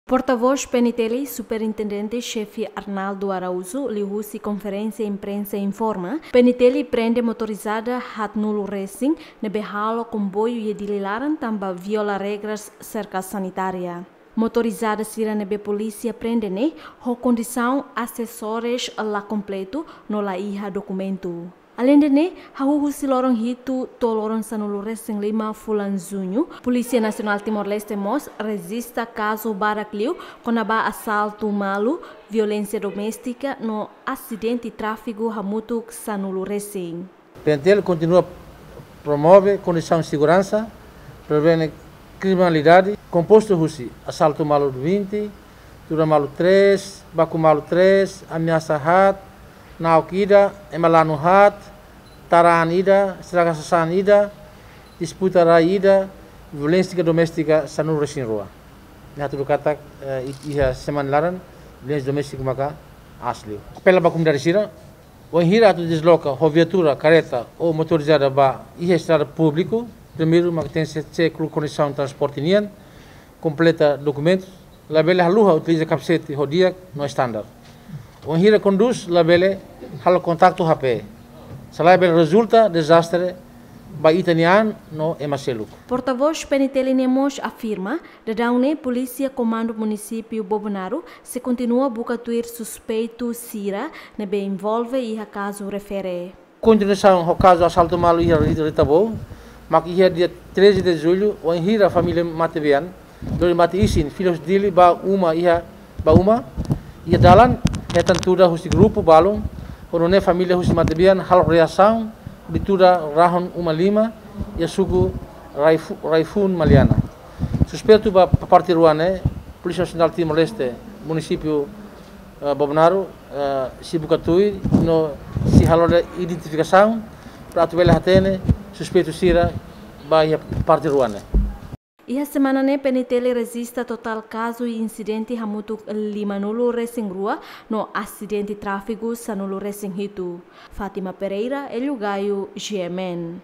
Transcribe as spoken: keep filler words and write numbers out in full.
Portavós P N T L, Superintendente Xefe Arnaldo Araújo, liuhusi konferénsia imprensa informa, P N T L prende motorizada haat nulu resin ne'ebé halo komboiu iha Dili laran tanba viola regras serka sanitária. Motorizada sira ne'ebé polísia prende ne'e ho kondisaun asesórius la kompletu no la iha dokumentu. Aleinde ne'e, hahú husi loron hitu to'o loron sanulu resin lima fulan Juñu, Polísia Nasionál Timor-Leste mós rejista kazu barak liu kona-ba asaltu malu, violénsia doméstika no asidente tráfigu hamutuk sanulu resin. P N T L kontinua promove kondisaun seguransa, prevene kriminalidade, kompostu husi asaltu malu vinte, tuda malu três, baku malu três, ameasa haat, na'ok ida, ema lanu haat, tara an ida, estraga sasán ida, disputa rai ida, violénsia doméstika sanulu resin rua. Ne'e hatudu katak, eh, i-, iha semana laran, violénsia doméstika maka aas liu. Apela ba komunidade sira, wainhira atu desloka ho viatura, kareta ou motorizada ba iha estrada públiku, primeiru maka tenke ser cek kondisaun transporte nian, kompleta dokumentus, labele haluha utiliza kapasete ho di'ak no standar. Wainhira kondús labele halo kontaktu H P, se lae bele rezulta dezastre ba ita-nia an no ema seluk. Portavós P N T L ne'e mós afirma, daudaun ne'e Polísia Komandu Munisípiu Bobonaro sei kontinua buka tuir suspeitu sira ne'ebé envolve iha kazu refere. Kontinuasaun ho kazu asaltu malu iha Ri-, Rita Bouk, mak iha dia treze de julho, wainhira família matebian lori mate-isin fila husi Dili ba uma iha, ba uma, iha dalan, hetan tuda husi grupu balun, ho nune'e família husi matebian halo reasaun, hodi tuda rahun uma lima, iha suku Raifu-, Raifun Maliana. Suspeitu ba pa-, parte rua ne'e, Polísia Nasionál Timor-Leste, Munisípiu, eh, Bobonaro, eh, sei buka tuir no sei halo identifikasaun, para atu bele hatene suspeitu sira ba iha parte rua ne'e. Iha semana ne'e P N T L rejista totál kazu insidente hamutuk limanulu resin rua no asidente tráfigu sanulu resin hitu. Fátima Pereira, Hélio Gaio, G M N.